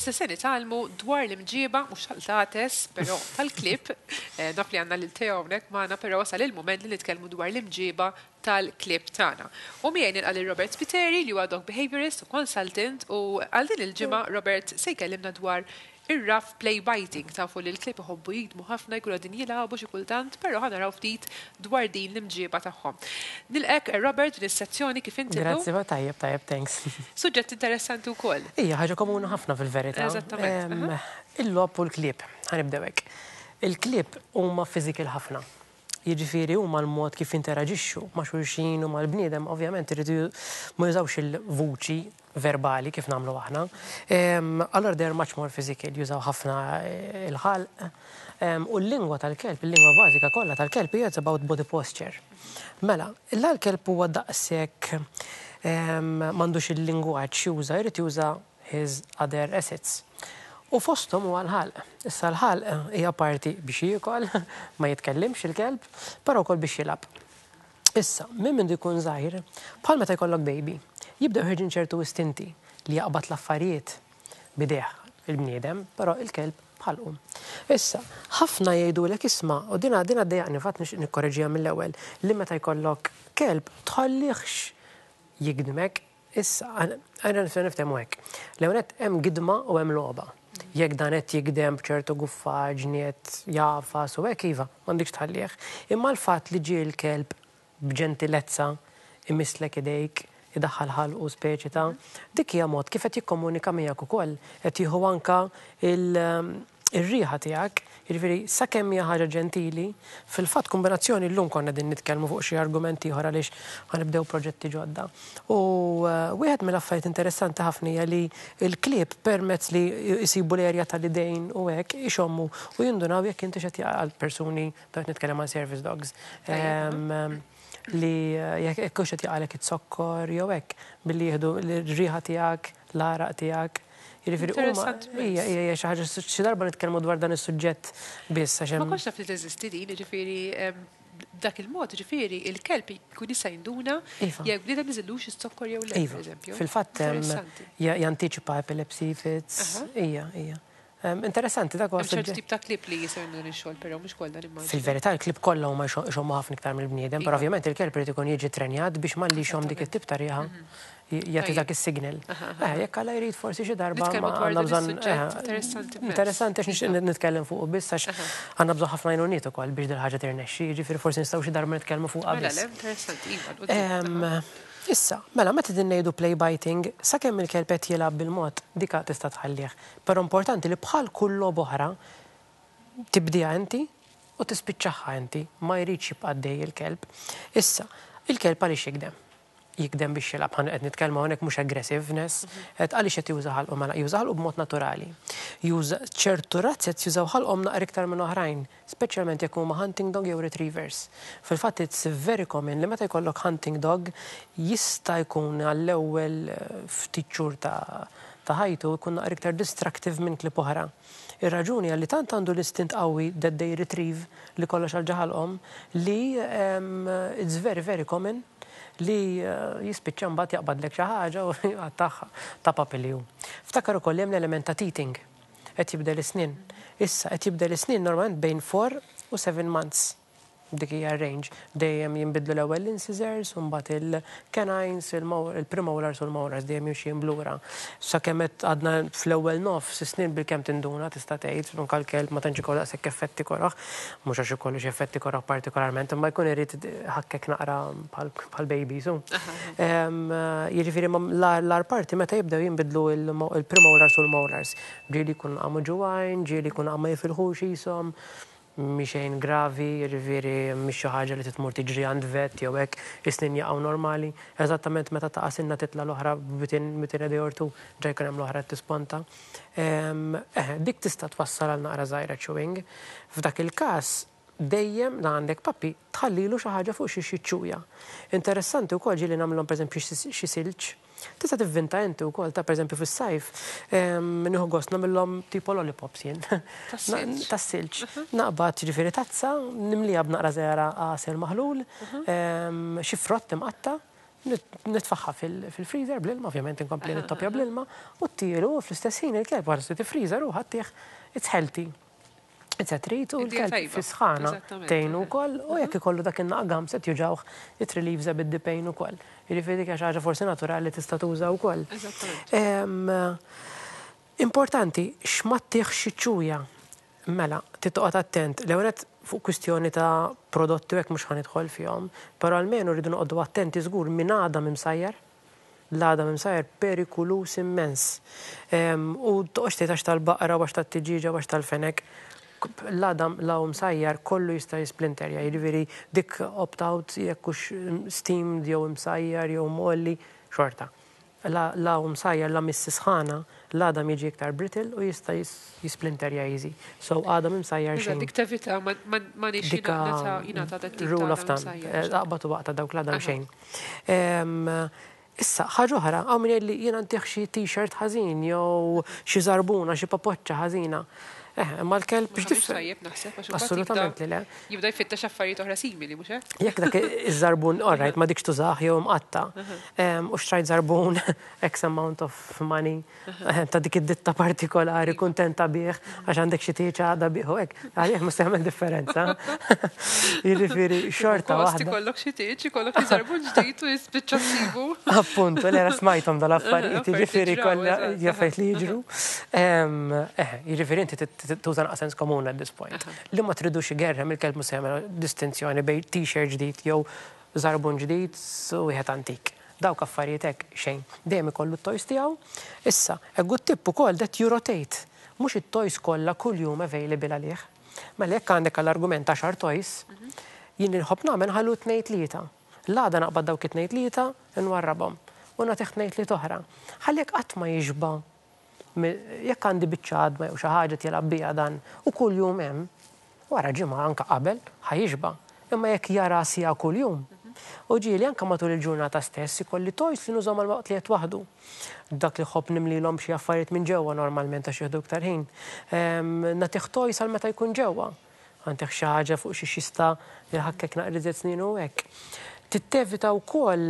Issa se nitgħallmu dwar l-imġieba, mhux tal-qtates, però tal-klieb. Naf li għandna lil Theo hawnhekk magħna, però wasal il-mument li nitkellmu dwar l-imġieba tal-klieb tagħna. U miegħi nilqa' lil Robert Spiteri li huwa dog behaviorist u consultant u għal din il-ġimgħa Robert se jkellimna dwar Ir-rough play biting, tafu li l-klieb iħobbu jigdmu ħafna, jkunu qegħdin jilagħbu xi kultant, però ħa naraw ftit dwar din l-imġieba tagħhom. Nilqgħek Robert f'din is-sezzjoni, kif inti llum? Grazzi, tajjeb, tajjeb, thanks. Suġġett interessanti wkoll. Hija ħaġa komuni ħafna fil-verità. Eżattament. Il-logħob u l-klieb, ħa nibdew hekk. Il-klieb huma physical ħafna. Jiġifieri huma l-mod kif jinteraġixxu ma' xulxin u mal-bniedem, ovvjament iridu ma jużawx il-vuċi verbali kif nagħmlu aħna. Allura they are much more physical, jużaw ħafna il-ħalq. U l-lingwa tal-kelb, il-lingwa bażika kollha tal-kelb hija it's about body posture. Mela, la l-kelb huwa daqshekk m'għandux il-lingwaġġ juża, jrid juża his other assets. U fosthom huwa l-ħalq. Issa l-ħalq hija parti biex jiekol, ma jitkellimx il-kelb, però wkoll biex jilgħab. Issa, minn mindu jkun żgħir, bħal meta jkollok baby, jibdew ħerġin ċertu istinti li jaqbad l-affarijiet b'idejh il-bniedem, però il-kelb b'ħalqu. Issa, ħafna jgħidulek isma', u dina dina ddejjaqni fatt nixtieq nikkoreġiha mill-ewwel, li meta jkollok kelb tħallihx jigdmek. Issa, għajna nistgħu niftehmu hekk. L-ewwel nett hemm gidma u hemm logħba. Jekk dan qed jigdem b'ċertu guffaġni qed jagħfas u hekk iva, m'għandikx tħallih. Imma l-fatt li ġie l-kelb b'ġentilezza imisslek idejk, idaħħal ħalqu speċi ta', dik hija mod kif qed jikkomunika miegħek ukoll, qed jieħu anke ir-riħa tiegħek, jiġifieri sakemm hija ħaġa ġentili, fil-fatt kombinazzjoni llum konna qegħdin nitkellmu fuq xi argument ieħor għaliex ħa nibdew proġetti ġodda. U wieħed mill-affarijiet interessanti ħafna hija li l-klieb permezz li jsibu l-erja tal-idejn u hekk ixommu u jindunaw jekk inti x'qed għal persuni, qed nitkellem għal service dogs, li jekk hux qed jaqgħalek iz-zokkor jew hekk billi jieħdu r-riħa tiegħek, l-għaraq tiegħek. Jiġifieri huma hija hija xi ħaġa xi darba nitkellmu dwar dan is-suġġett biss għax hemm. Ma kontx naf li teżisti din, jiġifieri b'dak il-mod, jiġifieri il-kelb jkun jista' jinduna jekk bniedem niżillux iz-zokkor jew le, pereżempju. Fil-fatt jantiċipa epilepsy fits, hija, hija. Interessanti dak huwa suġġett. Hemm ċertu tip ta' klieb li jistgħu jagħmlu dan ix-xogħol però mhux kollha nimmaġina. Fil-verità l-klieb kollha huma jxommu ħafna iktar mill-bniedem, però ovvjament il-kelb irid ikun jiġi ttrenjat biex malli jxomm dik it-tip ta' riħa jagħti dak is-signal. Jekk Alla jrid forsi xi darba għandna bżonn. Interessanti għax nixtieq nitkellem fuqu biss għax għandna bżonn ħafna għajnuniet ukoll biex dil-ħaġa tirnexxi, jiġifieri forsi nistgħu xi darba nitkellmu fuqha biss. Mela le, interessanti, iva, 'l quddiem. Issa, mela meta qegħdin ngħidu play biting, sakemm il-kelb qed jilgħab bil-mod, dika tista' tħallih. Però importanti li bħal kull logħba oħra, tibdieha inti u tispiċċaha inti, ma jridx jibqa' għaddej il-kelb. Issa, il-kelb għaliex jigdem? Jigdem biex jilgħab, ħa qed nitkellmu hawnhekk mhux aggressiveness, qed għaliex qed juża ħalqu mela juża ħalqu b'mod naturali. Juża ċertu razzez jużaw ħalqhom naqra iktar minn oħrajn. Speċjalment jekk huma hunting dog jew retrievers. Fil-fatt it's very common li meta jkollok hunting dog jista' jkun għall-ewwel ftit xhur ta' ta' ħajtu jkun naqra iktar destructive minn klieb oħra. Ir-raġuni hija li tant għandu l-istint qawwi that they retrieve li kollox għal ġo ħalqhom li it's very very common li jispiċċa mbagħad jaqbadlek xi ħaġa u jqattagħha ta' puppy li hu. Ftakar ukoll li hemm l-element ta' teething. Qed jibdel is-snien. Issa, qed jibdel is-snien normalment bejn 4 u 7 months. Dik hija r-range. Dejjem jinbidlu l-ewwel l-incisors u mbagħad il-canines, il-premolars u l-molars dejjem jimxi lura. Sakemm qed għadna fl-ewwel nofs is-snien bilkemm tinduna tista' tgħid, anke l-kelb ma tantx ikollu daqshekk effetti koroh. Mhux għax ikollu xi effetti koroh partikolarment, imma jkun irid iħakkek naqra bħal babies hu. Jiġifieri l-agħar parti meta jibdew jinbidlu l-premolars u l-molars. Ġieli jkunu qamu ġuwajn, ġieli jkunu qamu ma jifilħux qishom, mhi xejn gravi, jiġifieri mhix xi ħaġa li trid tmur tiġri għand vet jew hekk, is-snien jaqgħu normali. Eżattament meta taqa' sinna titla' l-oħra within within a day or two ġa jkun hemm l-oħra qed tisponta. Eħe, dik tista' twassal għal naqra żgħira chewing. F'dak il-każ dejjem la għandek puppy tħallilu xi ħaġa fuq xiex jiċċuja. Interessanti wkoll ġieli nagħmlilhom pereżempju xi silġ. Tista' tivvinta inti wkoll ta' pereżempju fis-sajf nieħu gost nagħmilhom tipo lollipops jien. Tas-silġ. Tas-silġ. Naqbad jiġifieri tazza, nimliha b'naqra żgħira għasel maħlul, xi frott imqatta', Nitfagħha fil-freezer bl-ilma, ovvjament inkompli nittopja bl-ilma, u ttilu u fl-istess ħin il-kelb wara li tifriża ruħha ttih it's healthy. It's a treat u l-kelb fis-sħana tgħinu wkoll u jekk ikollu dak in-naqgam se juġgħuh it relieves a bit the pain ukoll. Jiġifieri dik hija xi ħaġa forsi naturali tista' tuża wkoll. Importanti, x'ma ttihx iċ-ċuja. Mela, trid toqgħod attent. L-ewwel nett fuq kwistjoni ta' prodotti u hekk mhux ħa nidħol fihom, però almenu rridu noqogħdu attenti żgur minn għadam imsajjar. L-għadam imsajjar perikuluż immens. U toqgħodx tgħid għax tal-baqra u għax tat-tiġieġa u għax tal-fenek. L-għadam la hu msajjar kollu jista' jisplinterja, jiġifieri dik opt out jekk hux steamed jew imsajjar jew mgħolli, xorta. La hu msajjar la miss sħana, l-għadam jiġi iktar brittle u jista' jisplinterja easy. So għadam imsajjar xejn. Dik tevita ma nix jingħata dat tip Rule of thumb. Aqbad u waqta dawk l-għadam xejn. Issa, ħaġa oħra, hawn min jgħid li jiena ntih xi t-shirt ħażin jew xi żarbuna, xi papoċċa ħażina. Eh, imma l-kelb biex tifhem. Tajjeb naħseb għax Assolutament li le. Jibda jfittex affarijiet oħra simili, mhux hekk? Jekk dak iż-żarbun, all right, ma dikx tużah jew imqatta. U xtrajt żarbun X amount of money ta' dik id-ditta partikolari kuntenta bih għax għandek xi tieġ għada bih u hekk, għalih mhux se jagħmel differenza. Jiġifieri xorta waħda. Ikollok xi tieġ, ikollok xi żarbun ġdid u jispiċċa ssibu. Appuntu, l-era smajthom dal-affarijiet, jiġifieri kollha affarijiet li jiġru. Jiġifieri inti tuża naqra sens komun at this point. Li ma tridux igerrem il-kelb mhux se jagħmel distinzjoni bejn t-shirt ġdid jew żarbun ġdid u wieħed antik. Dawk affarijiet hekk xejn. Dejjem ikollu t-toys tiegħu. Issa, a good tip ukoll that you rotate. Mhux it-toys kollha kuljum available għalih. Mela jekk għandek għall-argument 10 toys, jien li nħobb nagħmel nħallu tnejn tlieta. L-għada naqbad dawk it-tnejn tlieta nwarrabhom u nagħtih tnejn tlieta oħra. Ħalli jekk qatt ma jixba' jekk għandi biċċa għadma jew xi ħaġa qed jilgħab biha dan u kuljum hemm, wara ġimgħa anke qabel ħa jixba'. Imma jekk jara siegħa kuljum, u ġieli anke matul il-ġurnata stess ikolli toys li nużahom għal waqt li qed waħdu. Dak li ħobb nimlilhom xi affarijiet minn ġewwa normalment għax jieħdu iktar ħin. Nagħtih toys għal meta jkun ġewwa. Għandek xi ħaġa fuq xi xista jħakkek naqra iżjed snin u hekk. Tittevita wkoll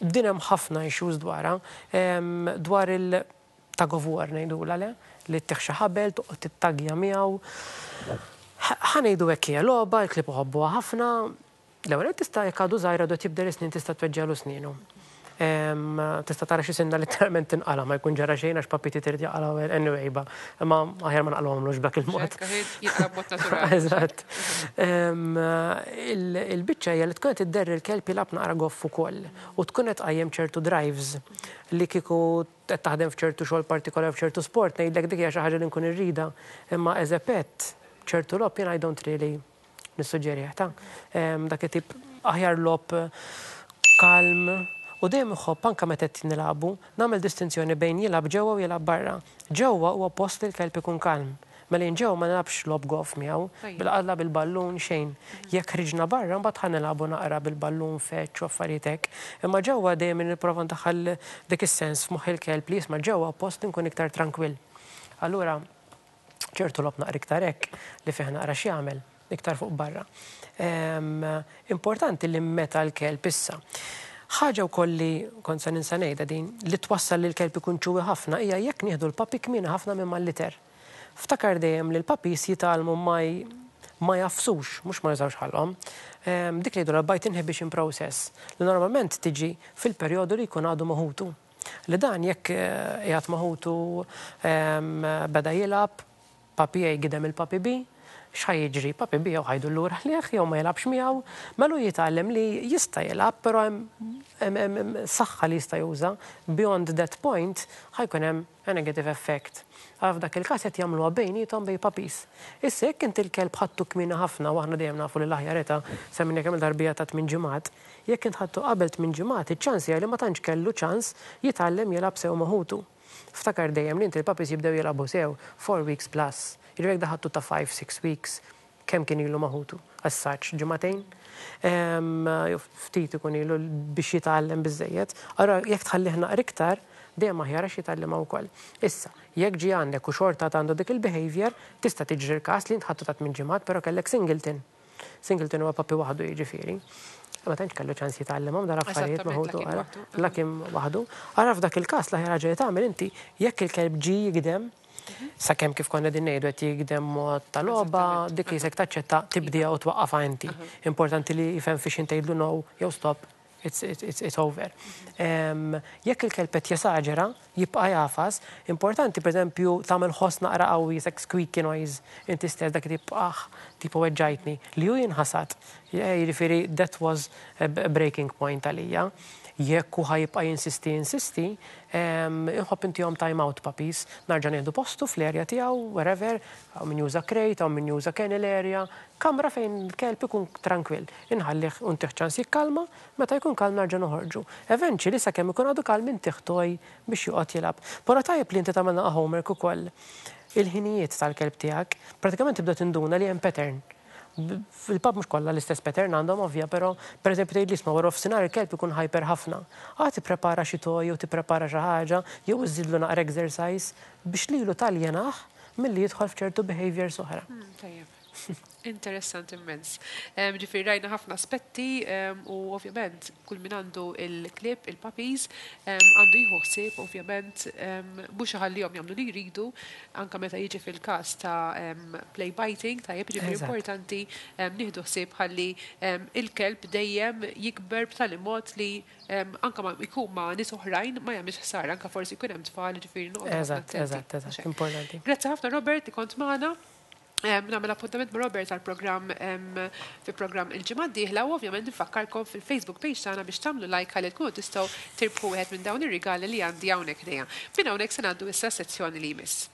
din hemm ħafna issues dwarha, dwar il-tug of war ngħidulha le, li ttih xi ħabel, toqgħod tittagja miegħu. Ħa ngħidu hekk hija logħba, il-klieb iħobbuha ħafna. L-ewwel tista' jekk għadu żgħir għadu qed jibdel is-snin tista' tweġġagħlu snienu. Tista' tara xi sinna letteralment tinqala' ma jkun ġara xejn għax puppy trid jaqalgħu anyway ba. Imma aħjar ma naqalgħuhomlux b'dak il-mod. Jinqala' b'mod naturali. Eżatt. Il-biċċa hija li tkun qed idderri l-kelb jilgħab naqra goff ukoll u tkun qed tqajjem ċertu drives li kieku qed taħdem f'ċertu xogħol partikolari f'ċertu sport ngħidlek dik hija xi ħaġa li nkun irrida. Imma as a pet ċertu logħob jien I don't really nissuġġerih ta' dak it-tip aħjar logħob kalm u dejjem iħobb anke meta qed nilagħbu nagħmel distinzjoni bejn jilgħab ġewwa u jilgħab barra. Ġewwa huwa post li l-kelb ikun kalm. Mela jien ġewwa ma nilgħabx logħob goff miegħu, bil-qadla bil-ballun xejn. Jekk ħriġna barra mbagħad ħa nilagħbu naqra bil-ballun fetch u affarijiet hekk. Imma ġewwa dejjem nipprova ndaħħal dik is-sens f'moħħ il-kelb li jisma' ġewwa post li nkun iktar trankwill. Allura ċertu logħob naqra iktar hekk li fih naqra x'jagħmel iktar fuq barra. Importanti li meta l-kelb issa. Ħaġa wkoll li kont se ninsa ngħidha din li twassal li l-kelb ikun chewy ħafna hija jekk nieħdu l-puppy kmieni ħafna minn mal-litter. Ftakar dejjem li l-puppies jitgħallmu ma jagħfsux, mhux ma jużawx ħalqhom. Dik li jgħidu bite inhibition process li normalment tiġi fil-perjodu li jkun għadu ma' ħutu. Li dan jekk qiegħed ma' ħutu beda jilgħab, puppy A gidem il-puppy B, x'ħa jiġri? Puppy B jew ħa jdur lura lejh jew ma jilgħabx miegħu, mela jitgħallem li jista' jilgħab, però hemm saħħa li jista' juża. Beyond that point ħa jkun hemm a negative effect. Għal f'dak il-każ qed jagħmluha bejniethom bejn puppies. Issa jekk inti l-kelb ħadtu kmieni ħafna u aħna dejjem nafu li l-aħjar età semmejna kemm il-darba ta' 8 ġimgħat, jekk int ħadtu qabel 8 ġimgħat, iċ-ċans hija li ma tantx kellu ċans jitgħallem jilgħab sew ma' ħutu. Ftakar dejjem li inti l-puppies jibdew jilagħbu sew 4 weeks plus. Jiġifieri jekk daħadtu ta' 5-6 weeks, kemm kien ilu ma' ħutu? As such, ġimagħtejn? Ftit ikun ilu biex jitgħallem biżejjed. Allura jekk tħallih naqra iktar, dejjem aħjar għax jitgħallimha wkoll. Issa, jekk ġie għandek u xorta għandu dik il-behavior, tista' tiġri l-każ li int ħadtu ta' 8 ġimgħat, però kellek singleton. Singleton huwa puppy waħdu jiġifieri. Ma tantx kellu ċans jitgħallimhom dal-affarijiet ma' ħutu. La kien waħdu. Ara f'dak il-każ l-aħjar ħaġa li tagħmel inti jekk il-kelb ġie jigdem, sakemm kif konna din ngħidu qed jigdem mod ta' logħba, dik li jisek taċċetta tibdiha u twaqqafha inti. Importanti li jifhem fiex intgħidlu no jew stop, it's, it's, it's over. Jekk il-kelb qed jesaġera, jibqa' jagħfas, importanti pereżempju tagħmel ħoss naqra qawwi jisek squeaky noise inti stess dak tip ah, tipo weġġajtni, li hu jinħasad. Jiġifieri that was a breaking point għalija. Jekk hu ħa jibqa' jinsisti jinsisti, inħobb intihom time out puppies. Narġa' nieħdu postu fl-area tiegħu, wherever, hawn min juża crate, hawn min juża kennel area, kamra fejn il-kelb ikun trankwill. Inħallih u ntih ċans jikkalma, meta jkun kalm narġa' noħorġu. Eventually sakemm ikun għadu kalm intih toy biex joqgħod jilgħab. Però tajjeb li inti tagħmel naqa' homework ukoll. Il-ħinijiet tal-kelb tiegħek, pratikament tibda tinduna li hemm pattern. Fil-pup mhux kollha l-istess pattern għandhom ovvja, però pereżempju tgħid li isma' wara nofsinhar il-kelb ikun hyper ħafna. Ah, tipprepara xi toy jew tipprepara xi ħaġa jew iżżidlu naqra exercise biex lilu taljenah milli jidħol f'ċertu behaviors oħra. Tajjeb. Interessant immens. Ġifieri rajna ħafna aspetti u ovvjament kull min għandu il-klieb, il-puppies, għandu jieħu ħsieb ovvjament mhux iħallihom jagħmlu li jridu anka meta jiġi fil-każ ta' play biting, tajjeb, ġifieri importanti nieħdu ħsieb ħalli il-kelb dejjem jikber b'tali mod li anka ma jkun ma' nies oħrajn ma jagħmilx ħsara, anka forsi jkun hemm tfal, ġifieri noqogħdu ħafna attenti. Eżatt, importanti. Grazzi ħafna, Robert, li kont magħna. Nagħmel appuntament ma' Robert għal-programm fi programm il-ġimgħa d-dieħla u ovvjament nfakkarkom fil-Facebook page tagħna biex tagħmlu like ħalli tkunu tistgħu tirbħu wieħed minn dawn ir-rigali li għandi hawnhekk ħdejja. Minn hawnhekk se ngħaddu issa sezzjoni li jmiss.